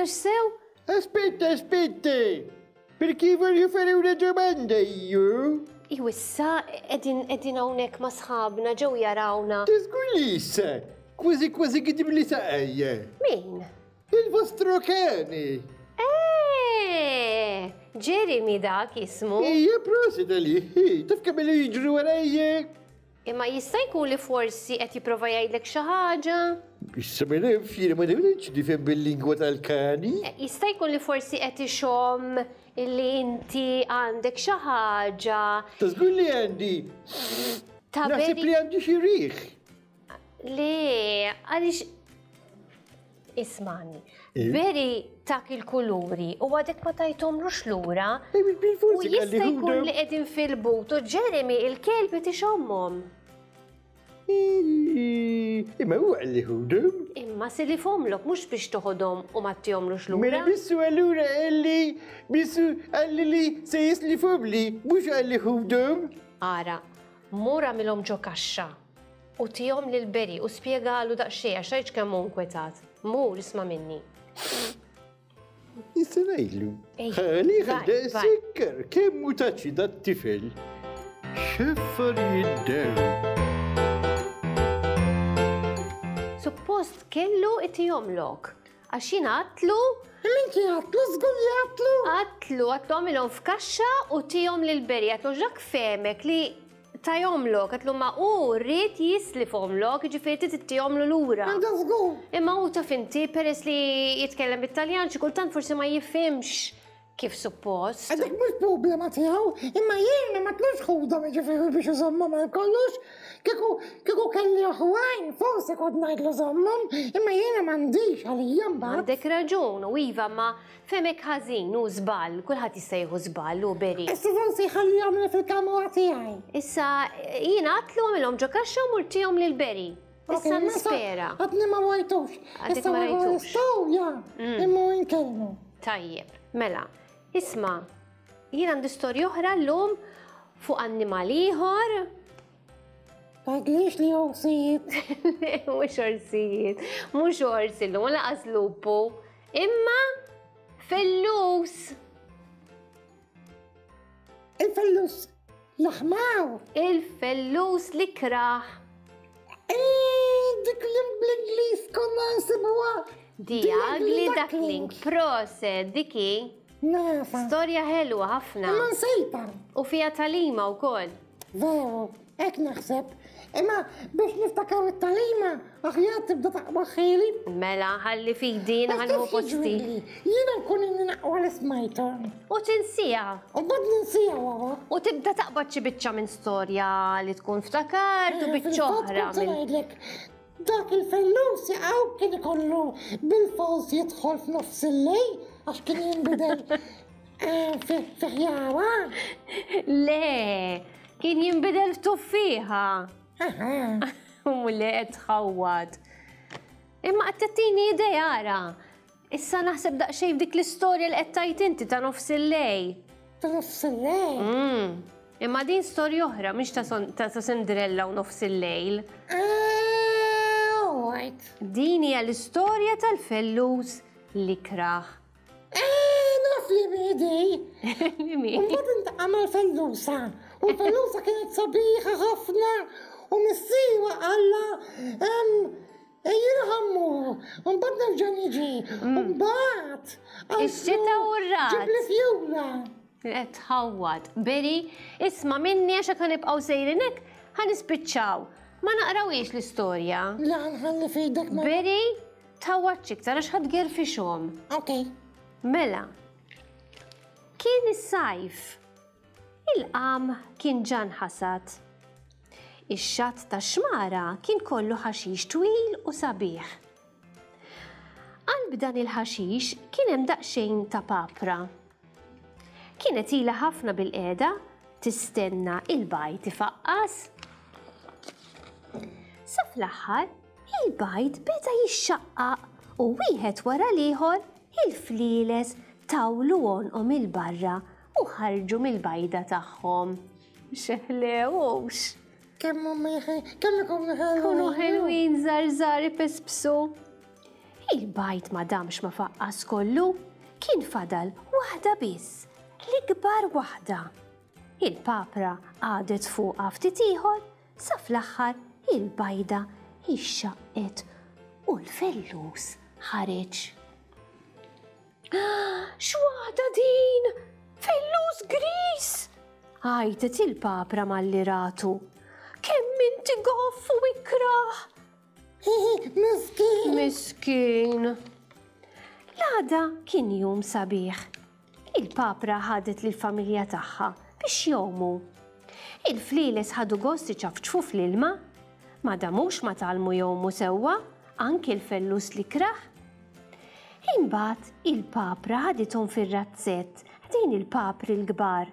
Kollox sew? Aspetta, aspetta! Perché voglio fare una domanda io? Iw issa qegħdin qegħdin hawnhekk ma' sħabna ġew jarawna. Ta' żgur li issa, kważi kważi gidibli saqajja. Min? Il vostro cane. Eh, Jeremy dak jismu. Ija prosit għalih, taf kemm ilu jiġri warajja. Imma jista' jkun li forsi qed jipprova jgħidlek xi ħaġa? Issa ma nafx, jiena ma nafx nifhem bil-lingwa tal-kani. Eh, jista' jkun li forsi qed ixomm li inti għandek xi ħaġa. Ta' żgur li għandi. Ta' Naħseb li għandi xi riħ. Le, għaliex Ismani, veri tak il-kuluri u għadek ma tajtomlux lura. U jista' jkun li qegħdin fil-but u Jeremy il-kelb qed ixommhom. Imma huwa li ħudhom. Imma silifhomlok mhux biex toħodhom u ma tihomlux lura. Mela bissu allura għalli bissu għalli li se jislifhomli mhux għalli ħudhom. Ara, mur għamilhom ġo kaxxa. U tihom lil Barry u spjegalu daqsxejn għax rajtx kemm hu nkwetat. Mur isma' minni. Issa ngħidlu. Ħali ħadda sikker kemm hu taċi dat-tifel. X'affarijiet dawn. Suppost kellu itihomlok. Għax jien għadtlu. Imma inti għadtlu, żgur li għadtlu. Għadtlu, għadtlu għamilhom f'kaxxa u tihom lil Barry. Għadtlu ġak fehmek li Tajhomlok, għedtlu ma hu ried jislifhomlok, jiġifieri trid ittihomlu lura. Għandu żgur. Imma hu taf inti, peress li jitkellem bit-Taljan, xi kultant forsi ma jifhimx kif suppost. Dik mhux problema tiegħu, imma jiena ma tlux ħudhom jiġifieri biex iżommhom għal kollox. Kieku kieku kelli oħrajn forsi kont ngħidlu żommhom, imma jiena m'għandix għalija mbagħad. Għandek raġun, u iva, ma Fehmek ħażin, hu żball, kulħadd jista' jieħu żball, hu beri. Issa forsi jħallihomli fil-kamra tiegħi. Issa jien għadtlu għamilhom ġo kaxxa u murtihom lil Beri. Issa nispera. Għadni ma rajtux. Għadek ma rajtux. L-istorja mm. imma nkellmu. Tajjeb, mela, isma' jien għandi storja oħra llum fuq annimal ieħor Tgħidlix li orsijiet. Mhux orsijiet, mhux orsi llum, laqas lupu. Imma fellus. Il-fellus l-aħmar. Il-fellus l-ikrah. Eh, dik li bl-Ingliż konna nsibuha. The Ugly Duckling. Proset, diki. Nafa. Storja ħelwa ħafna. Imma nsejta. U fija talima wkoll. Veru, hekk naħseb. Imma biex niftakar it-talima, aħjar tibda taqba ħili. Mela, ħalli fidi, ħallu posti. Jiena nkun inni naqwa li smajta. U tinsija. U bad ninsija wara. U tibda taqbad xi biċċa minn storja li tkun ftakart u eh, biċċa oħra. Dak il-fellus jaqaw kien ikollu bil-fors jidħol f'nofs il-lejl għax kien jinbidel eh, fi ħjara. Le, kien jinbidel f'tuffieħa. U le qed tħawwad. Imma qed tagħtini idea ara. Issa naħseb daqsxejn f'dik l-istorja li qed tgħid inti ta' nofs il-lejl. Ta' nofs il-lejl? Mm. Imma din storja oħra, mhix ta' Cinderella u nofs il-lejl. Ah, alright. Din hija l-istorja tal-fellus li kraħ. Eh, naf li midi. Li mi. Mbagħad intaqa' mal-fellusa. U l-fellusa kienet sabiħa ħafna u missierha qalla Ejjina ħa mmur, u mbagħad nerġa' niġi, u mm. mbagħad. Ix-xita u r-ragħad. Ġibli fjura. Qed tħawwad. Beri, isma' minni għax hekk nibqgħu sejrin hekk, ħa nispiċċaw. Ma naqrawiex l-istorja. La nħalli fidek ma. Beri, tħawwadx iktar għax ħadd gerfixhom. Ok. Mela, kien is-sajf. Il-qam kien ġa nħasad. Ix-xatt tax-xmara kien kollu ħaxix twil u sabiħ. Qalb dan il-ħaxix kien hemm daqsxejn ta' papra. Kienet ilha ħafna bilqiegħda tistenna il-bajd ifaqqas. Sa fl-aħħar, il-bajd beda jixxaqqaq u wieħed wara l-ieħor il-flieles tawlu għonqhom 'il barra u ħarġu mill-bajda tagħhom. Xeħlewux. Kemm huma kemm ikunu ħelwin. Kunu ħelwin żgħar żgħar ipespsu. Il-bajd ma damx ma faqqas kollu, kien fadal waħda biss, l-ikbar waħda. Il-papra qagħdet fuqha ftit ieħor sa fl-aħħar il-bajda ixxaqqet u l-fellus ħareġ. X'waħda din! Fellus gris! Għajtet il-papra malli ratu. Kemm inti goff u ikrah! Miskin! Miskin! L-għada kien jum sabiħ. Il-papra ħadet lill-familja tagħha biex jgħumu. Il-flieles ħadu gost iċafċfu fl-ilma. Ma damux ma tgħallmu jgħumu sewwa, anki l-fellus l-ikrah. Imbagħad il-papra ħadithom fir-razzett ħdejn il-papri l-kbar.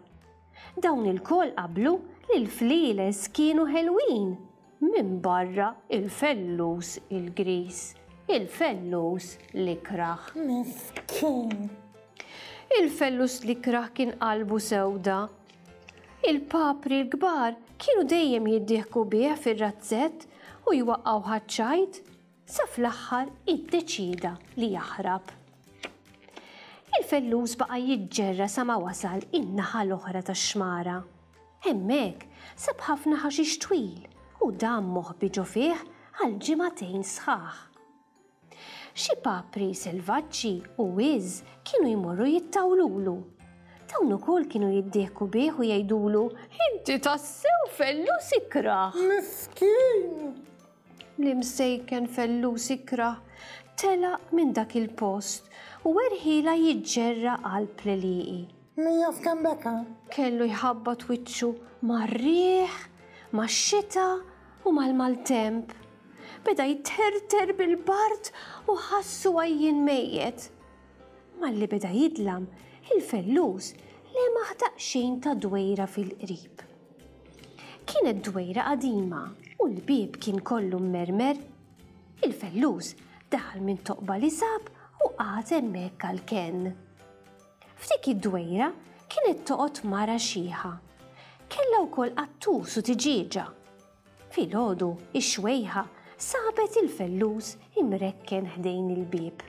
Dawn ilkoll qablu li l-flieles kienu ħelwin, minbarra il-fellus il-griż, il-fellus l-ikrah. Miskin! Il-fellus l-ikrah kien qalbu sewda. Il-papri l-kbar kienu dejjem jiddieħku bih fir-razzett u jwaqqgħuh għaċ-ċajt. Sa fl-aħħar iddeċieda li jaħrab. Il-fellus baqa' jiġġerra sa ma wasal in-naħa l-oħra tax-xmara. Hemmhekk sab ħafna ħaxix twil u dam moħbi ġo fih għal ġimagħtejn sħaħ. Xi papri selvaġġi u wiżż kienu jmorru jittawlulu. Dawn ukoll kienu jiddieħku bih u jgħidulu, Inti tassew fellus ikrah! Miskin! L-imsejken fellus ikrah telaq minn dak il-post u erħilha jiġġerra qalb l-għelieqi. Min jaf kemm beka. Kellu jħabbat wiċċu mar-riħ, max-xita u mal-maltemp. Beda jterter bil-bard u ħassu għajjien mejjet. Malli beda jidlam, il-fellus lemaħ daqsxejn ta' dwejra fil-qrib. Kienet dwejra qadima u l-bieb kien kollu mmermer. Il-fellus daħal minn toqba li sab u qagħad hemmhekk għall-kenn. F'dik id-dwejra kienet toqgħod mara xiħa. Kellha wkoll qattus u tiġieġa. Filgħodu, ix-xwejħa sabet il-fellus imrekken ħdejn il-bieb.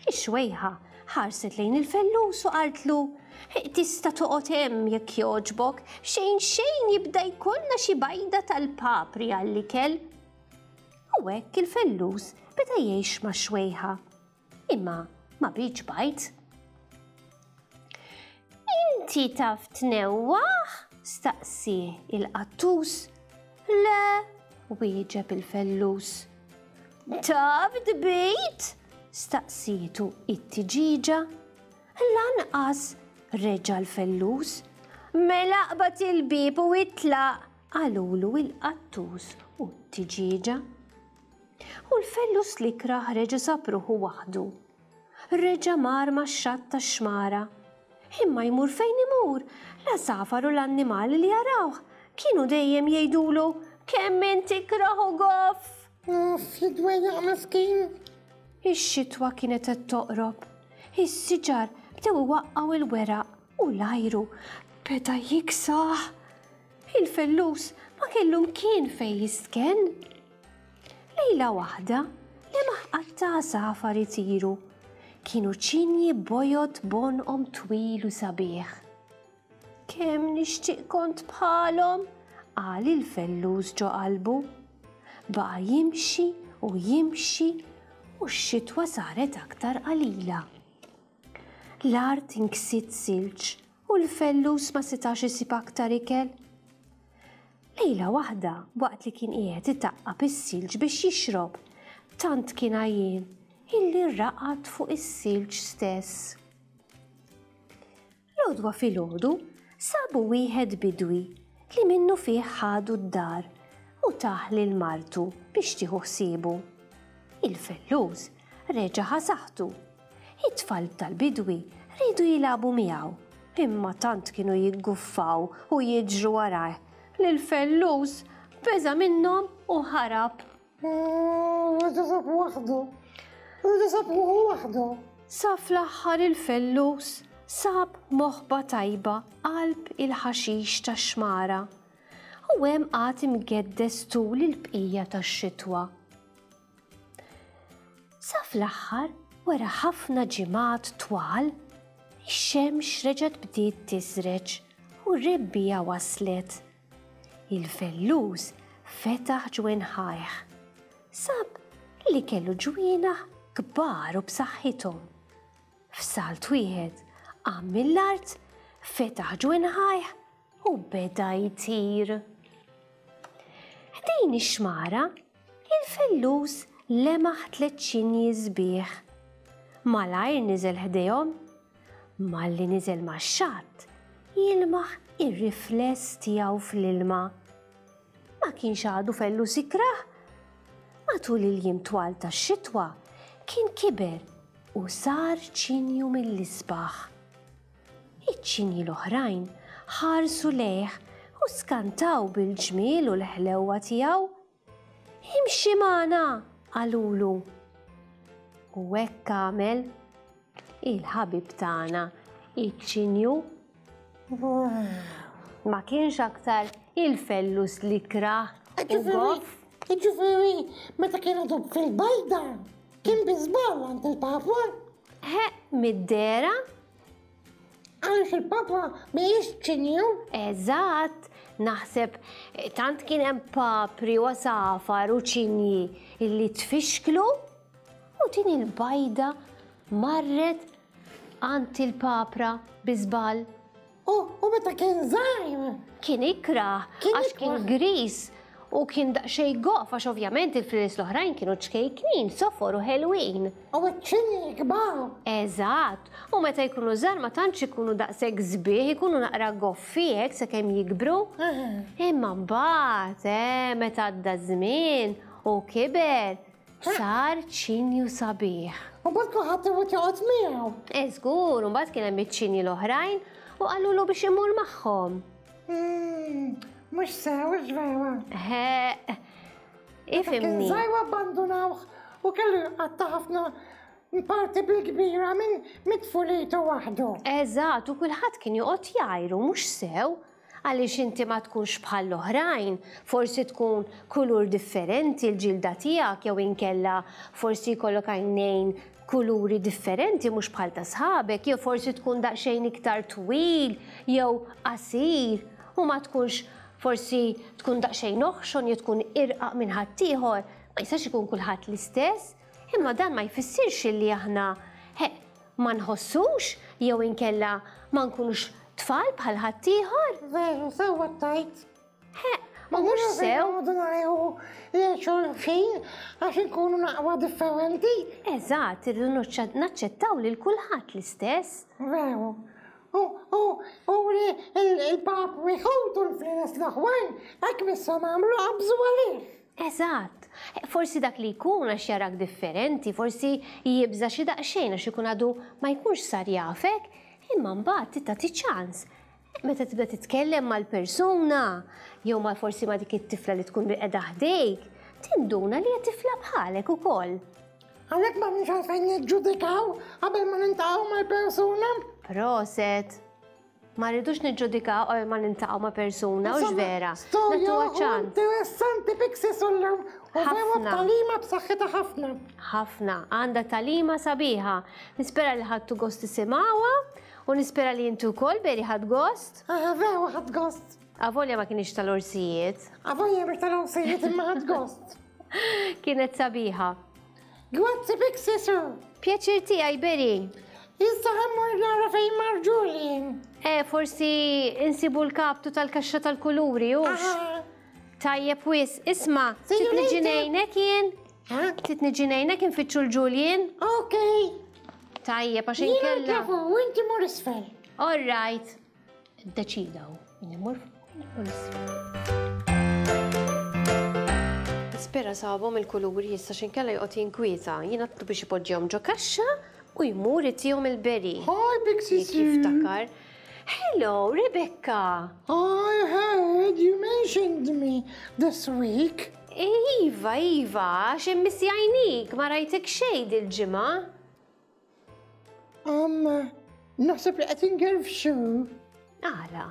Ix-xwejħa ħarset lejn il-fellus u qaltlu, Tista' toqgħod hemm jekk jogħġbok, xejn xejn jibda jkollna xi bajda tal-papri għall-ikel. U hekk il-fellus beda jgħix max-xwejħa. Imma ma bietx bajd. Inti taf tnewwaħ? staqsieh il-qattus. Le, wieġeb il-fellus. Taf tbid? staqsietu it-tiġieġa. Lanqas, reġa' l-fellus. Mela aqbad il-bieb u itlaq, qalulu il-qattus u t-tiġieġa. U l-fellus l-ikrah reġa' sab ruħu waħdu. Reġa' mar max-xatt tax-xmara. Imma jmur fejn imur, l-għasafar u l-annimali li jarawh kienu dejjem jgħidulu, Kemm int ikrah u goff! Uff, jidwejjaq miskin! Ix-xitwa kienet qed toqrob. Is-siġar bdew iwaqqgħu l-weraq u l-ajru beda jiksaħ. Il-fellus ma kellu mkien fejn jistkenn. Lejla waħda, lemaħ qatta' għasafar itiru. Kienu ċinji bojod b'għonqhom twil u sabiħ. Kemm nixtieq kont bħalhom, qal il-fellus ġo qalbu. Baqa' jimxi u jimxi u x-xitwa saret aktar qalila. L-art inksiet silġ u l-fellus ma setax isib aktar ikel. Lejla waħda, waqt li kien qiegħed itaqqab is-silġ biex jixrob, tant kien għajjien illi raqad fuq is-silġ stess. L-għodwa filgħodu sabu wieħed bidwi li minnufih ħadu d-dar u tah lil martu biex tieħu ħsiebu. Il-fellus reġa' ħa saħħtu. It-tfal tal-bidwi riedu jilagħbu miegħu, imma tant kienu jigguffaw u jiġru warajh li l-fellus beża' minnhom u ħarab. Reġa' sab waħdu. Reġa' sab ruħu waħdu. Sa fl-aħħar il-fellus sab moħba tajba qalb il-ħaxix tax-xmara u hemm qagħad imgeddes tul il-bqija tax-xitwa. Sa fl-aħħar, wara ħafna ġimgħat twal, ix-xemx reġgħet bdiet tisreġ u r-rebbiegħa waslet. Il-fellus fetaħ ġwenħajh. Sab li kellu ġwienaħ kbar u b'saħħithom. F'salt wieħed qam mill-art, fetaħ ġwenħajh u beda jtir. Ħdejn ix-xmara, il-fellus lemaħ tlet ċinji sbieħ. Malajr niżel ħdejhom. Malli niżel max-xatt, jilmaħ ir-rifless tiegħu fl-ilma. Ma kienx għadu fellus ikrah. Matul il-jiem twal tax-xitwa kien kiber u sar ċinju mill-isbaħ. Iċ-ċinji l-oħrajn ħarsu lejh u skantaw bil-ġmiel u l-ħlewwa tiegħu. Imxi magħna, qalulu. U hekk għamel il-ħabib tagħna, iċ-ċinju. Ma kienx aktar il-fellus li krah u goff. Ġifieri, meta kien għadu fil-bajda, kien bi żball għand il-Papa. He, mid-dehra. Għaliex il-Papa mhijiex ċinju. Eżatt, naħseb eh, tant kien hemm papri u għasafar u ċinji illi tfixklu u din il-bajda marret għand il-papra bi żball. U meta kien żgħir? Kien ikrah, għax kien gris u kien daqsxejn goff għax ovvjament il-flieles l-oħrajn kienu ċkejknin, sofor u ħelwin. U ċ-ċinji kbar. Eżatt, u meta jkunu żgħar ma tantx ikunu daqshekk sbieħ, ikunu naqra goffi hekk sakemm jikbru. Imma mbagħad, eh, meta għadda ż-żmien u kiber, Sar ċinju sabiħ. U mbagħad kulħadd irid joqgħod miegħu. Eh, żgur, u mbagħad kien hemm iċ-ċinji l-oħrajn u qalulu biex imur magħhom. Hmm, mhux sew, vera. He, ifimni. Żgħir abbandunawh u kellu jqatta' ħafna parti bil-kbira minn mitfulitu waħdu. Eżatt, u kulħadd kien joqgħod jgħajru mhux sew. Għaliex inti ma tkunx bħall-oħrajn, forsi tkun kulur differenti l-ġilda tiegħek jew inkella forsi jkollok għajnejn kuluri differenti mhux bħal ta' sħabek, jew forsi tkun daqsxejn iktar twil jew qasir u ma tkunx forsi tkun daqsxejn oħxon jew tkun irqaq minn ħaddieħor. Ma jistax ikun kulħadd l-istess, imma dan ma jfissirx illi aħna ma nħossux jew inkella ma nkunux tfal bħal ħaddieħor. Veru, sewwa tgħid. He, ma mhux sew. Noqogħdu ngħajru lil xulxin għax inkunu naqwa differenti. Eżatt, irridu naċċettaw lil kulħadd l-istess. Veru. U li l-papri ħutu l-flieles l-oħrajn hekk misshom għamlu qabżu għalih. Eżatt. Forsi dak li jkun għax jarak differenti, forsi jibża' xi daqsxejn għax ikun għadu ma jkunx sar jafek, imma mbagħad trid tagħti ċans. Meta tibda titkellem mal-persuna, jew ma forsi ma dik it-tifla li tkun qiegħda ħdejk, tinduna li hija tifla bħalek ukoll. Għalhekk m'għandniex għalfejn niġġudikaw qabel ma niltaqgħu mal-persuna. Proset. Ma rridux niġġudikaw qabel ma niltaqgħu ma' persuna, hux vera? Storja interessanti Pixie Sullum u vera b'tagħlima b'saħħitha ħafna. Ħafna, għandha tagħlima sabiħa. Nispera li ħadtu gost tisimgħuha u nispera li inti wkoll Beri ħadt gost. Aha, vera ħadt gost. Avolja ma kienx tal-orsijiet. Avolja mhux tal-orsijiet imma ħadt gost. Kienet sabiħa. Grazzi Pixie Sue. Pjaċir tiegħi Beri. Issa ħa mmur nara fejn mar Julian. Eh, forsi insibu l-kaptu tal-kaxxa tal-kuluri, hux? Tajjeb wis, isma, trid niġi ngħinek jien? Trid niġi ngħinek infittxu l-Julian? Ok. Tajjeb, għax inkella. Jien u inti mur isfel. All right. Iddeċida hu min imur fuq min imur isfel. Nispera sabhom il-kuluri issa x'inkella joqgħod jinkwieta. Jien għadtlu biex ipoġġihom ġo kaxxa u jmur itihom il-Berry. Hi Big Jekk Sissy. jiftakar. Hello, Rebecca! I heard you mentioned me this week. Iva, iva, għax immissjajnik, ma rajtek xejn dil-ġimgħa. Um, naħseb li qed ingerfxu. Għala?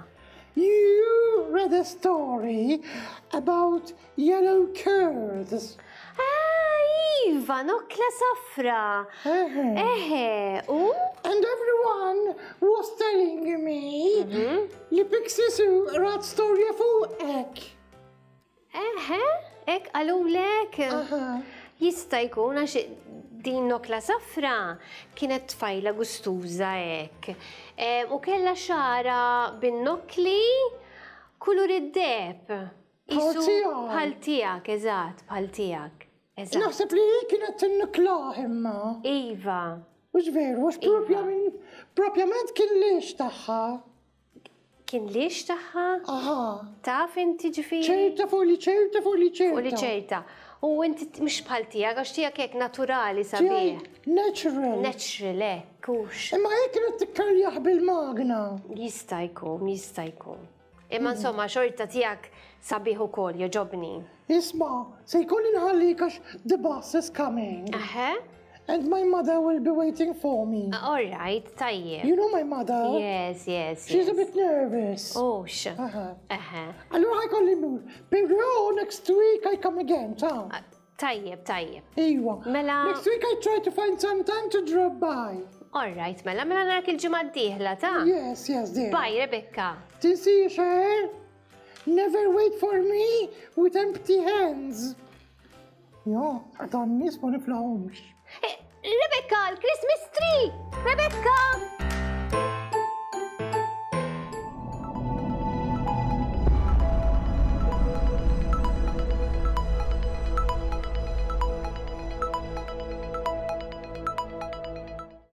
You read a story about yellow curds. Ah, Iva, nokla safra. Eħe, u? And everyone was telling me mhm. li Pixie Sue rat storja fuqek. Eħe, hekk qalulek. Jista' jkun għax din nokla safra kienet tfajla gustuża hekk. U kellha xara bin-nokkli kulur id-deheb. Bħal tiegħi. Bħal tiegħek, eżatt, bħal tiegħek. Eżatt. Naħseb li hi kienet tinnuklah imma. Iva. Mhux veru, għax iva. propjament kien liex tagħha. Kien liex tagħha? Aha. Taf inti ġifieri? Ċerta fuq li ċerta fuq li ċerta. Fuq li ċerta. U inti mhux bħal tiegħek għax tiegħek hekk naturali sabiħ. Natural. Natural hekk, hux. Imma hekk kienet tikkarjah bil-magna. Jista' jkun, jista' jkun. Imma insomma xorta tiegħek sabiħ ukoll jogħġobni. Isma', se jkolli nħallik għax the bus is coming. Eħe. And my mother will be waiting for me. Ah, all right, tajjeb. You know my mother? Yes. She's a bit nervous. Oh, Aha. Eħe. Allura ħajkolli mmur. Però next week I come again, ta. Ah, tajjeb, tajjeb. Iwa. Mela. Next week I try to find some time to drop by. All right, mela, mela narak il-ġimgħa d-dieħla, ta? Yes, dear. Bye, Rebecca. Tinsiex, eh? Never wait for me with empty hands. Ja, dan nies ma niflahomx. Eh, Rebecca, l-Christmas tree! Rebecca!